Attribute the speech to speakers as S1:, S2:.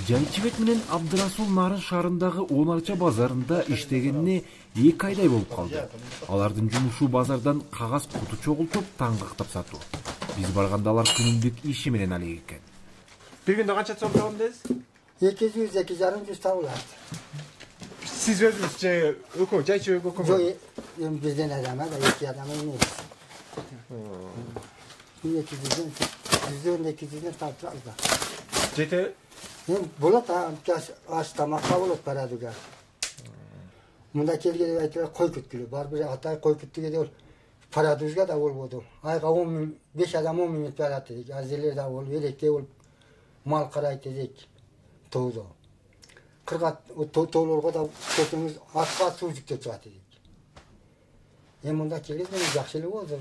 S1: Жайчыбек менен Абдырасул Нарын шаарындагы 10 арча базарында иштегенине 2 айдай болуп калды. Алардын жумушу базардан кагаз куту чогултуп, таңгактап сатуу. Биз барганда алар күнүмдүк иши менен алек экен.
S2: Bir günde kaç so'm табам дейсиз?
S3: 200-250 табылат.
S2: Siz өзүңүз же өкмөт, жайчыбек өкмөт?
S3: Жок, эми бизден адам да 2 адам эмес. 200-200 тартып алды.
S2: Жете?
S3: Эми болот, аш тамакка болот парадыга. Мында келгенде айтып кой күткүлө, бар бир атай кой күттүгө ол парадыга да болбоду. Айга 10 миң, 5 адам 10 миң барат дедик. Азерлер да болуп, электе болуп мал карайт дедик. Тоодо. Кыргат тоолорго да көтөңүз атка суу жүктөп чыгат дедик. Эми мында келгенде жакшы эле болду.